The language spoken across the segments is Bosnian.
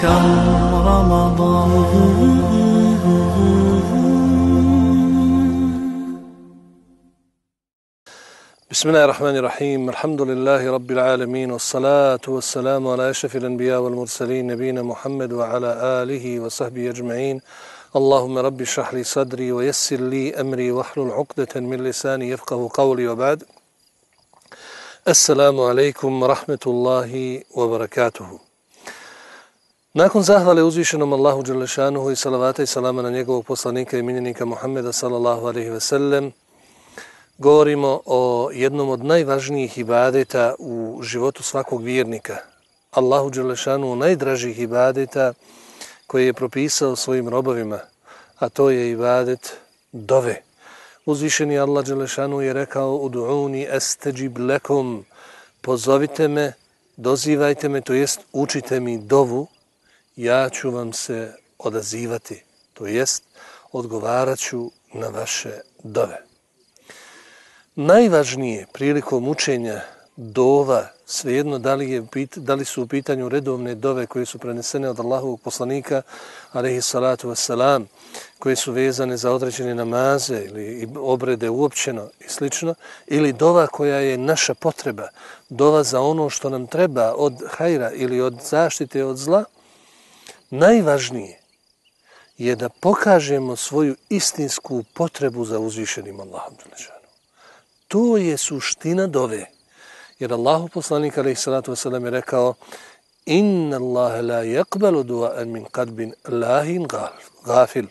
كم رمضان. بسم الله الرحمن الرحيم. الحمد لله رب العالمين والصلاة والسلام على أشرف الأنبياء والمرسلين نبينا محمد وعلى آله وصحبه أجمعين. اللهم رب اشرح لي صدري ويسر لي أمري واحلل عقدة من لساني يفقه قولي وبعد. Assalamu alaikum wa rahmetullahi wa barakatuhu. Nakon zahvale uzvišenom Allahu dželešanuhu i salavata i salama na njegovog poslanika i miljenika Muhammeda sallallahu alaihi ve sellem, govorimo o jednom od najvažnijih ibadeta u životu svakog vjernika. Allahu dželešanuhu najdražih ibadeta koje je propisao svojim robovima, a to je ibadet dove. Uzvišeni Allah dželešanu je rekao: Udu'uni astajib lakum, pozovite me, dozivajte me, to jest učite mi dovu, ja ću vam se odazivati, to jest odgovarat ću na vaše dove. Najvažnije prilikom učenja dova, svejedno da li su u pitanju redovne dove koje su prenesene od Allahovog poslanika alejhi salatu vesselam, koje su vezane za određene namaze ili obrede uopćeno i slično, ili dova koja je naša potreba, dova za ono što nam treba od hajra ili od zaštite od zla, najvažnije je da pokažemo svoju istinsku potrebu za uzvišenim Allahom. To je suština dove. Jer Allahu poslanik alejhi salatu vesselam je rekao: Inna Allaha la yaqbalu du'an min qalbin lahin ghafil.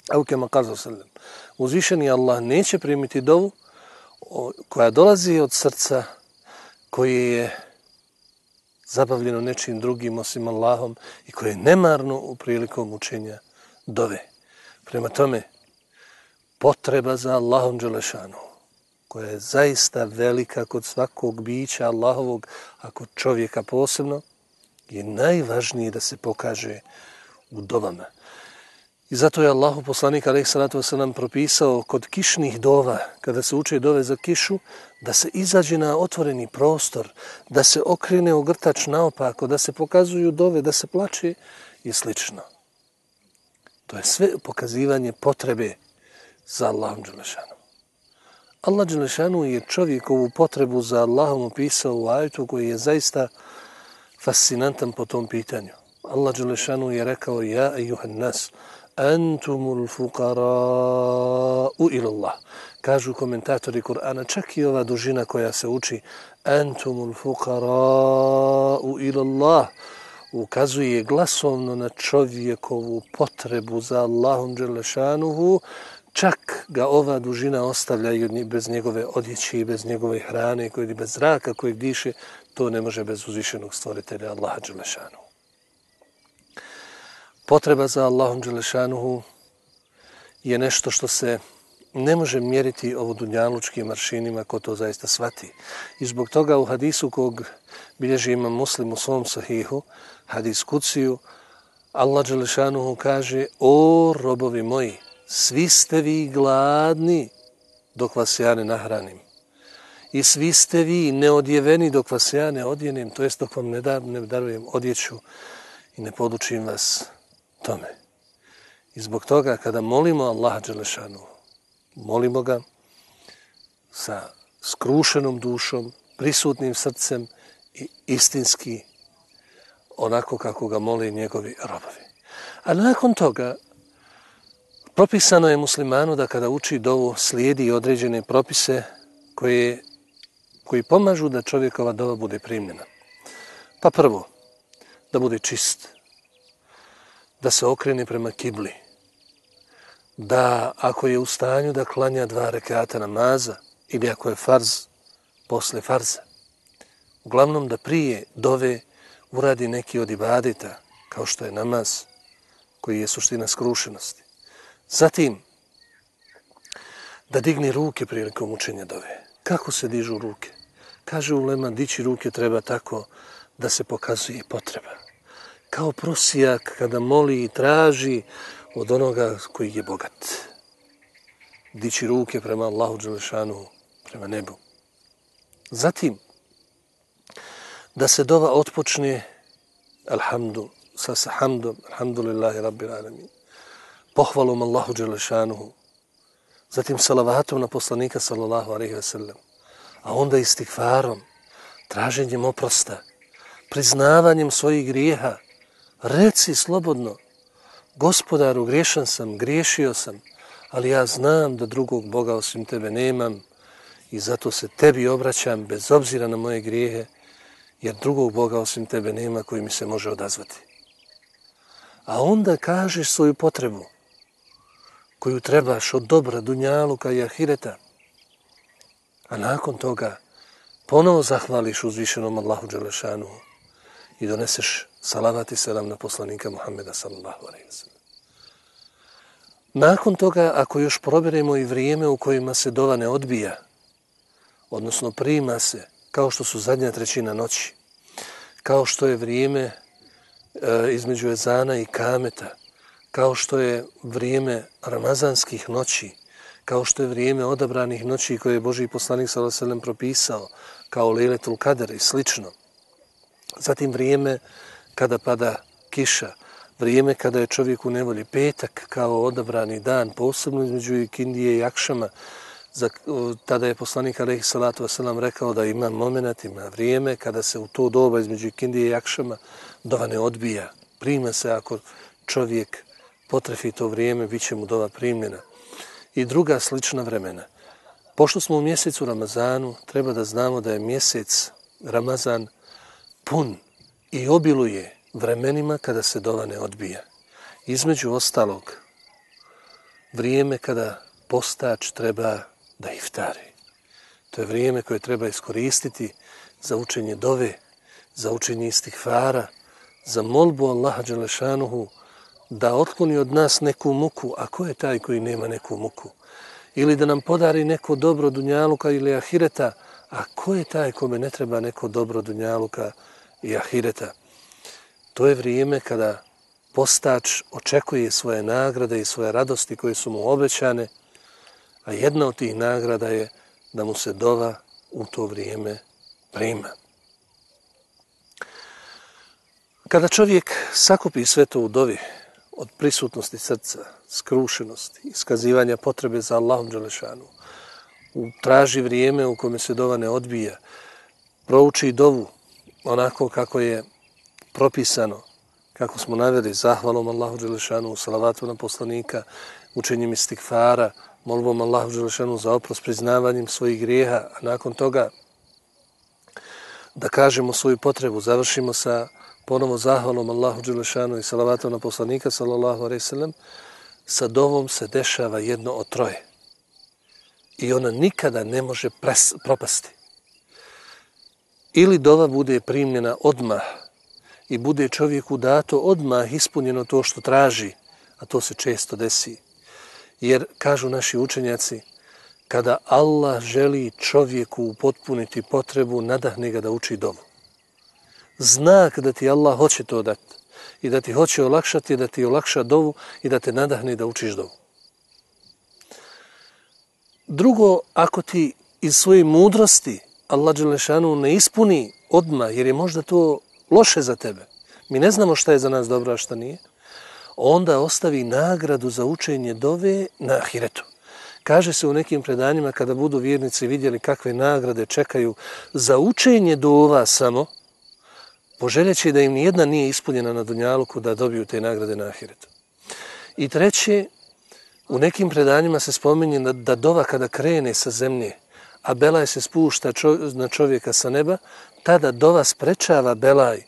Au kema kazao sallam. Uzvišeni Allah neće primiti dovu koja dolazi od srca koje je zabavljeno nečim drugim osim Allahom i koje je nemarno u prilikom učenja dove. Prema tome, potreba za Allahom dželešanu, koja je zaista velika kod svakog bića Allahovog, a kod čovjeka posebno, je najvažnije da se pokaže u dovama. I zato je Allahu poslanik alejhi salatu vesselam propisao kod kišnih dova, kada se uče dove za kišu, da se izađe na otvoreni prostor, da se okrene ogrtač naopako, da se pokazuju dove, da se plače i slično. To je sve pokazivanje potrebe za Allahom dželešanom. Allah dželešanu je čovjekovu potrebu za Allahom opisao u ajetu koji je zaista fascinantan po tom pitanju. Allah dželešanu je rekao: Ja ejuhan nas, antumul fuqara'u ila Allah. Kažu komentatori Kur'ana, čak i ova dužina koja se uči antumul fuqara'u ila Allah ukazuje glasovno na čovjekovu potrebu za Allahom dželešanuhu. Čak ga ova dužina ostavlja i bez njegove odjeće i bez njegove hrane, i bez zraka kojeg diše, to ne može bez uzvišenog stvoritelja Allaha dželešanuhu. Potreba za Allahom dželešanuhu je nešto što se ne može mjeriti ovodunjalučkim aršinima ko to zaista shvati. I zbog toga u hadisu kog bilježi Imam Muslim u svom sahihu, hadis kuciju, Allah dželešanuhu kaže: O robovi moji, svi ste vi gladni dok vas ja ne nahranim. I svi ste vi neodjeveni dok vas ja ne odjenem, to jest dok vam ne darujem odjeću i ne podučim vas tome. I zbog toga kada molimo Allaha dželešanu, molimo ga sa skrušenom dušom, prisutnim srcem i istinski onako kako ga mole njegovi robovi. A nakon toga propisano je muslimanu da kada uči dovu slijedi određene propise koji pomažu da čovjekova dova bude primljena. Pa prvo, da bude čist, da se okrene prema kibli, da ako je u stanju da klanja 2 rekata namaza ili ako je farz, posle farza. Uglavnom da prije dove uradi neki od ibadeta, kao što je namaz, koji je suština skrušenosti. Zatim, da digne ruke prilikom učenja dove. Kako se dižu ruke? Kaže ulema, dići ruke treba tako da se pokazuje potreba. Kao prosijak kada moli i traži od onoga koji je bogat. Dići ruke prema Allahu dželešanu, prema nebu. Zatim, da se dova otpočne, alhamdu, sa hamdom, alhamdulillahi rabbil alamin, pohvalom Allahu dželešanuhu, zatim salavatom na poslanika sallallahu alejhi ve sellem, a onda istigfarom, traženjem oprosta, priznavanjem svojih grijeha. Reci slobodno, Gospodaru, griješan sam, griješio sam, ali ja znam da drugog Boga osim tebe nemam i zato se tebi obraćam bez obzira na moje grijehe, jer drugog Boga osim tebe nema koji mi se može odazvati. A onda kažeš svoju potrebu koju trebaš od dobra, dunjaluka i ahireta, a nakon toga ponovo zahvališ uzvišenom Allahu dželešanuhu i doneseš salavat i selam na poslanika Muhammeda sallallahu alejhi ve sellem. Nakon toga, ako još proberemo i vrijeme u kojima se dova ne odbija, odnosno prima se, kao što su zadnja trećina noći, kao što je vrijeme između ezana i kameta, kao što je vrijeme ramazanskih noći, kao što je vrijeme odabranih noći koje je Božji poslanik sallallahu alejhi ve sellem propisao, kao Lejletul Kadr i slično. Zatim vrijeme kada pada kiša, vrijeme kada je čovjek u nevolji, petak kao odabrani dan, posebno između ikindije i akšama. Tada je poslanik alejhi salatu vesselam rekao da ima momenat, ima vrijeme kada se u to doba između ikindije i akšama dova ne odbija. Prima se ako čovjek potrefi to vrijeme, bit će mu dova primljena. I druga slična vremena. Pošto smo u mjesecu Ramazanu, treba da znamo da je mjesec Ramazan pun i obiluje vremenima kada se dova ne odbija. Između ostalog, vrijeme kada postač treba da iftari. To je vrijeme koje treba iskoristiti za učenje dove, za učenje istigfara, za molbu Allaha dželešanuhu da otkloni od nas neku muku, a ko je taj koji nema neku muku? Ili da nam podari neko dobro dunjaluka ili ahireta, a ko je taj kome ne treba neko dobro dunjaluka i ahireta? To je vrijeme kada postač očekuje svoje nagrade i svoje radosti koje su mu obećane, a jedna od tih nagrada je da mu se dova u to vrijeme prima. Kada čovjek sakupi sve to u dovi, od prisutnosti srca, skrušenosti, iskazivanja potrebe za Allahom dželešanu, traži vrijeme u kome se dova ne odbija, prouči dovu onako kako je propisano, kako smo naveli, zahvalom Allahu dželešanu, salavatu na poslanika, učenjem istigfara, molbom Allahu dželešanu za oprost, priznavanjem svojih grijeha, a nakon toga da kažemo svoju potrebu, završimo sa ponovo zahvalom Allahu dželešanu i salavatom na poslanika sallallahu alejhi ve sellem. Sa dovom se dešava jedno od troje i ona nikada ne može propasti. Ili dova bude primljena odmah i bude čovjeku dato odmah ispunjeno to što traži, a to se često desi. Jer, kažu naši učenjaci, kada Allah želi čovjeku upotpuniti potrebu, nadahne ga da uči dovu. Znak da ti Allah hoće to dati i da ti hoće olakšati, da ti olakša dovu i da te nadahne da učiš dovu. Drugo, ako ti iz svoje mudrosti Allah dželešanu ne ispuni odmah, jer je možda to loše za tebe, mi ne znamo šta je za nas dobro, a šta nije, onda ostavi nagradu za učenje dove na ahiretu. Kaže se u nekim predanjima kada budu vjernici vidjeli kakve nagrade čekaju za učenje dova samo, poželjeći da im nijedna nije ispunjena na dunjaluku da dobiju te nagrade na ahiretu. I treće, u nekim predanjima se spominje da dova kada krene sa zemlje, a belaj se spušta na čovjeka sa neba, tada dova sprečava belaj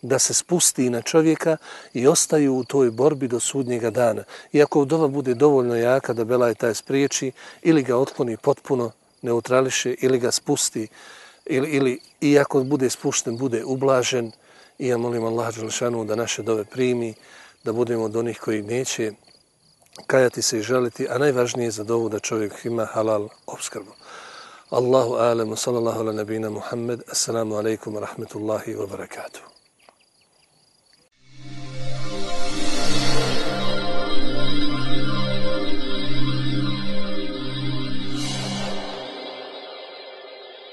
da se spusti na čovjeka i ostaju u toj borbi do sudnjega dana. Iako dova bude dovoljno jaka da belaj taj spriječi, ili ga otkloni potpuno, neutrališe, ili ga spusti, ili iako bude spušten, bude ublažen. I ja molim Allah dželešanu da naše dove primi, da budemo od onih koji neće kajati se i žaliti, a najvažnije je za dovu da čovjek ima halal opskrbu. Allahu alemu, sallallahu ala nabina Muhammed, assalamu alaikum wa rahmetullahi wa barakatuh.